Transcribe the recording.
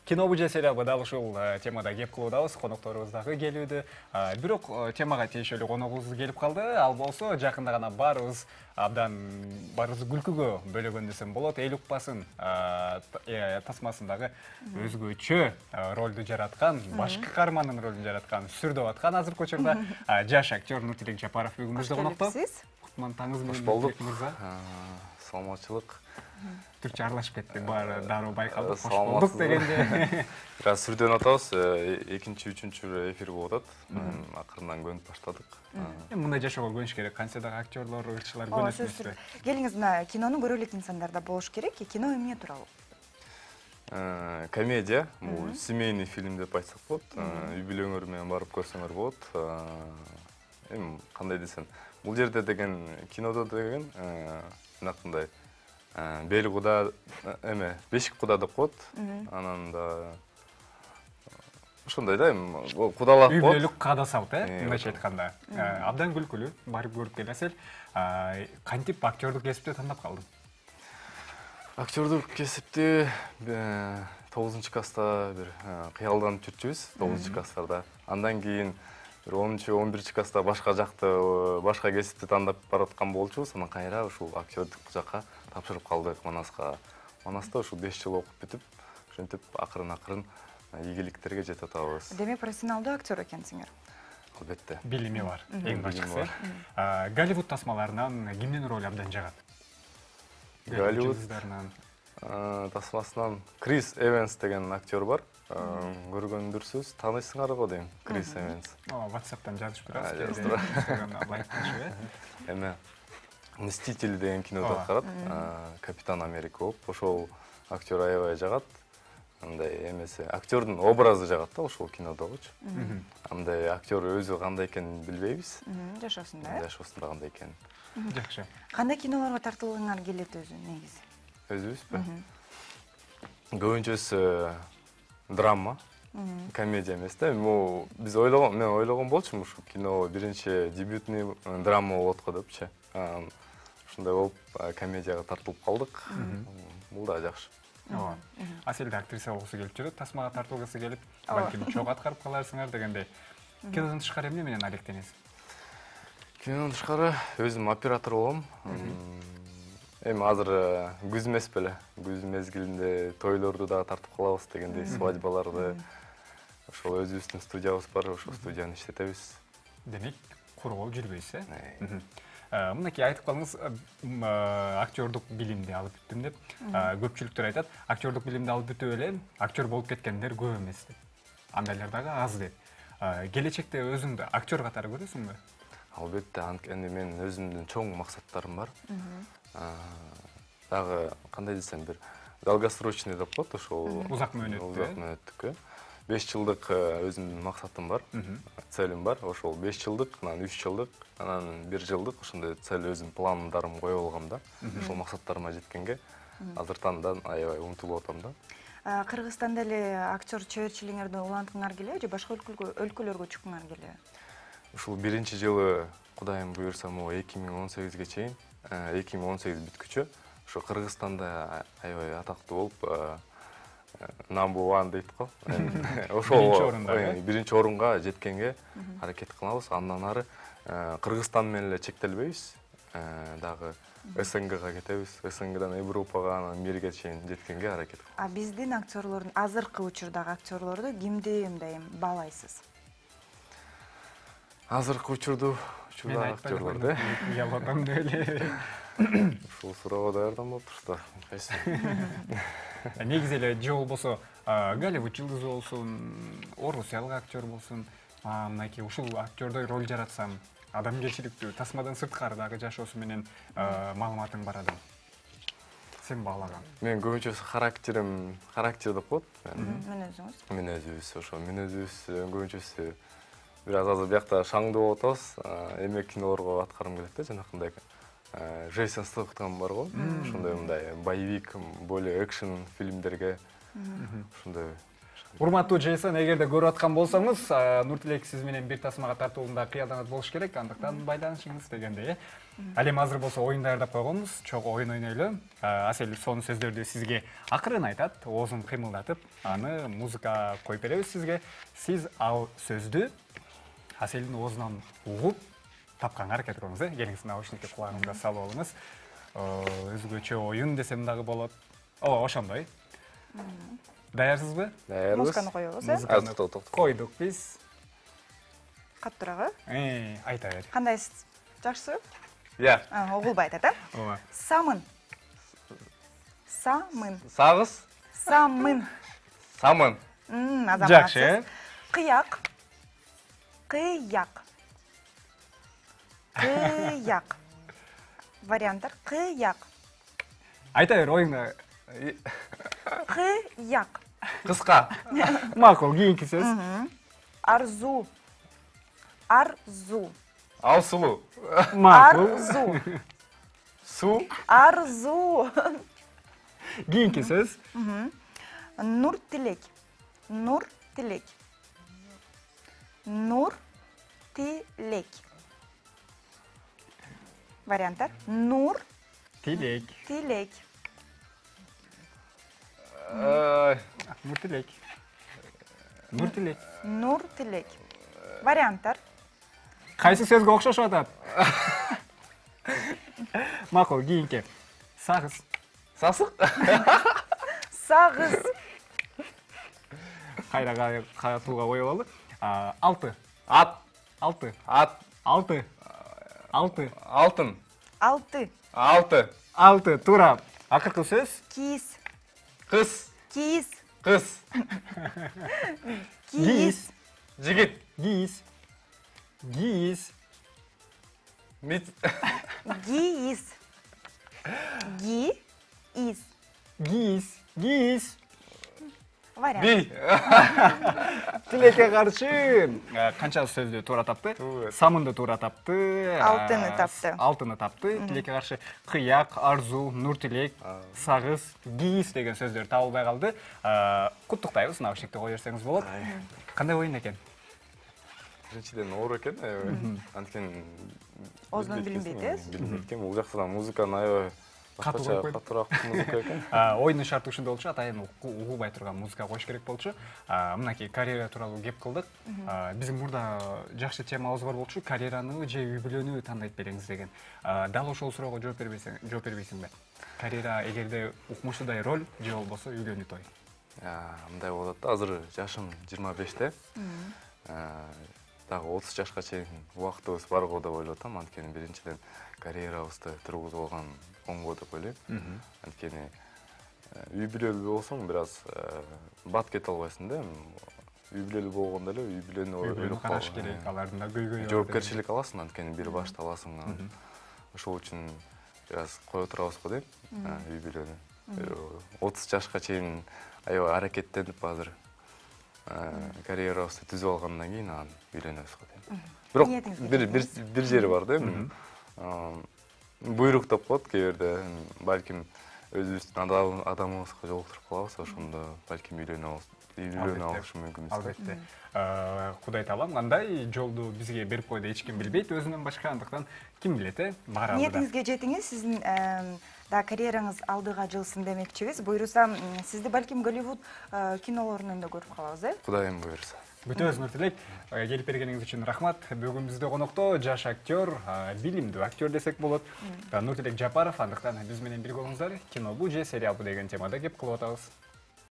Кино же сериалга дал ушул темада кеп кылуудабыз, конокторубуз дагы келүүдө. Бирок темага тиешелүү коногубуз келип калды. Ал болсо жакында гана баарыбыз күлкүгө бөлөгөн десем болот. Эл укпасын тасмасындагы өзгөчө ролду жараткан, башкы каармандын ролун жараткан, сүрдөп аткан азыркы учурда жаш актер Нуртилек Жапаров бүгүнбүздө конокто. Кутман таңыңыз менен болдук. мырза. Саламатчылык. Түркчө аралашып кеттик, баары дароо байкалдык. Кош болдук дегенде. Бир аз сүрдөнүп атабыз. Экинчи, үчүнчү эфир болуп атат. Акырындан көнүп баштадык. Мындай жашоого көнүш керек. Канча дагы актерлор, ырчылар көнөсүңүзбү? Келиңиз, мына кинону көрө элек инсандарда болуш керек. Кино эмне тууралуу? Комедия, бул семейный фильм деп айтсак болот. Үй бүлөңөр менен барып көрсөңөр болот. Эми кандай десем, бул жерде деген кинодо деген мынакындай бел куда бешик куда деп коет. Анан да ошондой да эми кудалап үй бүлөлүк каада салт, мындайча айтканда. Абдан күлкүлүү, барып көрүп келесиз. Кантип актерлук кесипти тандап калдың? Актерлук кесипти 9-класста бир кыялданып жүрчүбүз, 9-класстарда. Андан кийин 10-11 класста башка жакты, башка кесипти тандап бараткан болчубуз. Анан кайра ушул актерлук жакка тапшырып калдык Манаска. Манаста ушул 5 жыл окуп бүтүп, ошентип акырын ийгиликтерге жетип атабыз. Демек профессионалдуу актер экенсиңер. Албетте. Билими бар, эң башкысы. Голливуд тасмаларынан кимдин ролу абдан жагат? Голливуд тасмасынан Крис Эванс деген актер бар. Көргөндүрсүз, таанысыңар го дейм, Крис Эванс. WhatsApp'тан жазышып турасыз. Эме Мстители деген кинодо аткарат. Капитан Америка болуп, ошол актер аябай жагат. Андай эмеси, актердун образы жагат да ошол кинодогучу. Андай актер өзү кандай экенин билбейбиз. Жашоосунда, Жашоосунда кандай экенин. Жакшы. Кандай кинолорго тартылгыңар келет өзү негизи? Өзүбүзбү? Көбүнчөсү драма, комедия эмес да. Биз мен ойлогон болчумун ушу кино биринчи дебютный драма болот го депчи. Ушундай болуп комедияга тартылып калдык. Бул да жакшы. Аселде актриса болгусу келип жүрөт, тасмага тартылгысы келип, балким чогуу аткарып каларсыңар дегендей. Кинодон тышкары эмне менен алектенесиз? Кинодон тышкары өзүм оператор болом. Эми азыр күз эмес беле. Күз мезгилинде тойлорду дагы тартып калабыз дегендей, свадьбаларды. Ошол өзүбүздүн студиябыз бар, ошол студияны иштетебиз. Демек, куру болуп жүрбөйсүз, Мынакей айтып калдыңыз, актерлук билимди алып бүттүм деп. Көпчүлүктөр айтат, актерлук билимди алып бүтүп эле актер болуп кеткендер көп эмес деп. Андайлар дагы аз деп. Келечекте өзүңдү актер катары көрөсүңбү? Албетте, анткени менин өзүмдүн чоң максаттарым бар. Дагы кандай десем, бир долгосрочный деп коет, ошол узак мөөнөттүккө. 5 жылдык өзүмдүн максатым бар, целим бар. Ошол 5 жылдык, анан 3 жылдык, анан 1 жылдык ошондой цель өзүм пландарым коюп алгам да. Ошол максаттарыма жеткенге азыртандан аябай умтулуп атам да. Кыргызстанда эле актер чеберчилигиңерди улантыңар келеби же башка өлкөлөргө чыккыңар келеби? Ушул биринчи жылы Кудайым буйрса, 2018ге чейин, 2018 бүткүчө, ошо Кыргызстанда аябай атактуу болуп, number one дейт го. Ошол биринчи орунга жеткенге аракет кылабыз. Андан ары Кыргызстан менен эле чектелбейбиз. Дагы СНГга кетебиз. СНГдан Европага, анан мирге чейин жеткенге аракет кылабыз. Биздин актерлордун, азыркы учурдагы актерлорду кимди мындай баалайсыз? Азыркы учурдагы актерлорду ялгандам эле. Ушул суроого даярданып турсуздар. Кайсы? Негизи эле же болбосо Голливуд жылдызы болсун, орусиялык актер болсун, мынакей ушул актердой роль жаратсам, адамгерчиликтүү, тасмадан сырткары дагы жашоосу менен маалыматың бар адам. Сен баалаган. Мен көбүнчөсү характер деп коет. Мүнөзүңүз? Мүнөзүбүз, ошо мүнөзүбүз көбүнчөсү бир аз азыр биякта шаңдуу болуп атабыз. Эмек кинолорго аткарым келет да, жанакындай. Джейсон Стэтхэм бар го, ошондой мындай боевик, более экшен фильмдерге ошондой Урматтуу Жейсон, эгерде көрүп аткан болсоңуз, Нуртилек сиз менен бир тасмага тартуулунда кыялданат болуш керек, андыктан байланышыңыз дегенде. Ал эми азыр болсо оюн даярдап койгонбуз, чогуу оюн ойнойлу. Асель сонун сөздөрдү сизге акырын айтат, оозун кыймылдатып, аны музыка коюп беребиз сизге. Сиз ал сөздү Аселдин оозунан угуп, тапканга аракет кылыңыз, келиңиз наушникти кулагыңызга салып алыңыз. Өзгөчө оюн десем дагы болот. Ошондой. Даярсызбы? Даярбыз. Музыканы коебуз, Музыканы койдук биз. Каттырагы. Айта бер. Кандайсыз? Жакшысызбы? Я. Угулбай айтат, Ооба. Самын. Самын. Сагыз. Самын. Самын. Жакшы. Кыяк. Кыяк. Кыяк. Варианттар. Кыяк. Айта бер оюңда. Кыяк. Кыска. Макул, кийинки сөз. Арзу. Арзу. Алсулуу. Макул. Арзу. Суу. Арзу. Кийинки сөз. Нур тилек. Нур тилек. Нур тилек. Варианттар. Нур Тилек. тилек. Нуртилек. Нуртилек. Нур тилек. Варианттар. Кайсы сөзгө окшошуп атат? Макул, кийинки. Сагыз. Сасык. Сагыз. Кайра катууга коелу. Алты. Ат. Алты. Ат. Алты. Алты. Алтын. Алты. Алты. Алты. Туура. Акыркы сөз. Кииз. Кыз. Кииз. Кыз. Кииз. Жигит. Гиз. Гиз. Мит. Гииз. Гииз. Гиз. Гиз. Вариант. Би. Тилекке каршы канча сөздү туура тапты? Самынды туура тапты. Алтыны тапты. Алтыны тапты. Тилекке каршы кыяк, арзу, нуртилек, сагыз, гиз деген сөздөр табылбай калды. Куттуктайбыз, наушникти кое берсеңиз болот. Кандай оюн экен? Биринчиден оор экен, аябай. Анткени Оозунан билинбейт, э? Билинбейт экен. Бул жактан музыканы аябай катуураак музыка экен. Оюндун шарты ушундай болчу, атайын угулбай турган музыка коюш керек болчу. Мынакей карьера тууралуу кеп кылдык. Биздин мурда жакшы темабыз бар болчу, карьераны же үй бүлөнү тандайт бериңиз деген. Дал ошол суроого жооп бербейсиңби? Карьера эгерде укмуштуудай роль же болбосо үйлөнүү той? Мындай болот да, азыр жашым 25-те. Дагы 30 жашка чейин убактыбыз бар го деп ойлоп атам. Анткени биринчиден карьерабызды тургузуп алган оңго деп ойлойм. Анткени үй бүлөлүү болсоң бир аз бат кете албайсың да. Үй бүлөлүү болгондо эле үй бүлөнү ойлоп караш керек, алардын да көйгөйү. Жоопкерчилик аласың, анткени бир башты аласың. Ошол үчүн бир аз кое турабыз го дейм. Үй бүлөнү 30 жашка чейин аябай аракеттенип азыр карьерабызды түзүп алгандан кийин анан үйлөнөбүз го дейм. Бирок бир жери бар да, буйрук деп коет кээ бирде, балким өзүбүздүн адамыбызга жолуктуруп калабыз, ошондо балким үйлөнө алышы мүмкүнбүз. Албетте. Кудай таалам кандай жолду бизге берип койду эч ким билбейт өзүнөн башка, андыктан ким билет, баарыбызда. Ниетиңизге жетиңиз, сиздин да карьераңыз алдыга жылсын демекчибиз. Буйруса, сизди балким Голливуд кинолорунан да көрүп калабыз, Кудайым буйруса. Бүтөбүз, Нуртилек. Келип бергениңиз үчүн рахмат. Бүгүн бизде конокто жаш актер, билимдүү актер десек болот. Нуртилек Жапаров, андыктан биз менен бирге болуңуздар. Кинобу же сериалбу деген темада кеп кылып атабыз.